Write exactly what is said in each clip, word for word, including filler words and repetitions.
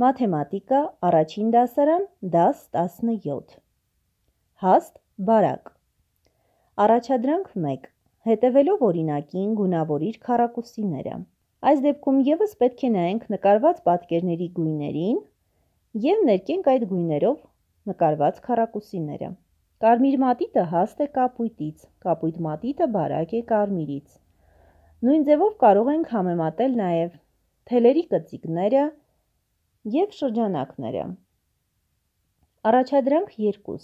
Մաթեմատիկա, առաջին դասարան, դաս տասնյոթ։ Հաստ, բարակ։ Առաջադրանք մեկ. հետևելով օրինակին գունավորիր քառակուսիները։ Այս դեպքում ևս պետք է նայենք նկարված պատկերների գույներին և ներկենք այդ գույներով նկարված քառակուսիները։ Կարմիր մատիտը հաստ է կապույտից, կապույտ մատիտը բարակ է կարմիրից։ Նույն ձևով կարող ենք համեմատել նաև թելերի կծիկները և շրջանակները։ Առաջադրանք երկու.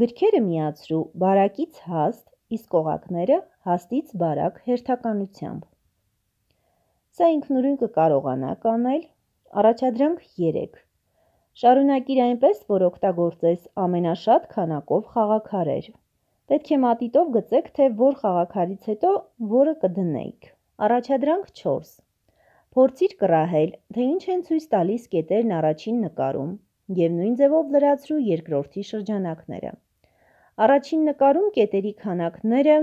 Գրքերը միացրու բարակից հաստ, իսկ օղակները հաստից բարակ հերթականությամբ։ Սա ինքնուրույն կկարողանաք անել։ Առաջադրանք երեք. Շարունակիր այնպես, որ օգտագործես ամենաշատ քանակով խաղաքարեր։ Պետք է մատիտով գծեք, թե որ խաղաքարից հետո որը կդնեիք։ Առաջադրանք չորս. Փորձիր կռահել, թե ինչ են ցույց տալիս կետերն առաջին նկարում և նույն ձևով լրացրու երկրորդի շրջանակները։ Առաջին նկարում կետերի քանակները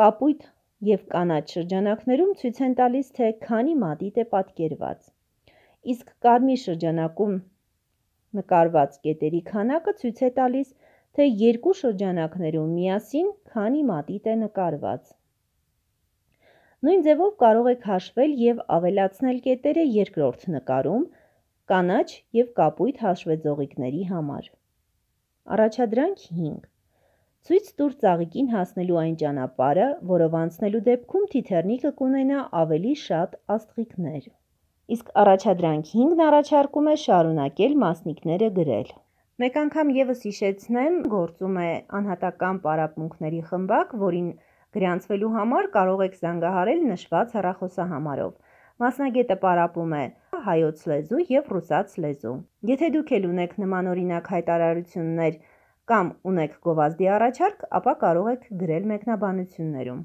կապույտ և կանաչ շրջանակներում ցույց են տալիս, թե քանի մատիտ է պատկերված, իսկ կարմիր շրջանակում նկարված կետերի քանակը ցույց է տալիս, թե երկու շրջանակներում միասին քանի մատիտ է նկարված։ Նույն ձևով կարող եք հաշվել և ավելացնել կետերը երկրորդ նկարում կանաչ և կապույտ հաշվեձողիկների համար։ Առաջադրանք հինգ. Ցույց տուր ծաղիկին հասնելու այն ճանապարհը, որով անցնելու դեպքում թիթեռնիկը կունենա ավելի շատ աստղիկներ։ Իսկ առաջադրանք հինգն առաջարկում է շարունակել մասնիկները գրել։ Մեկ անգամ ևս հիշեցնեմ, գործում է անհատական պարապմունքների խմբակ, որին գրանցվելու համար կարող եք զանգահարել նշված հեռախոսահամարով։ Մասնագետը պարապում է հայոց լեզու և ռուսաց լեզու։ Եթե դուք էլ ունեք նմանօրինակ հայտարարություններ կամ ունեք գովազդի առաջարկ, ապա կարող եք գրել մեկնաբանություններում։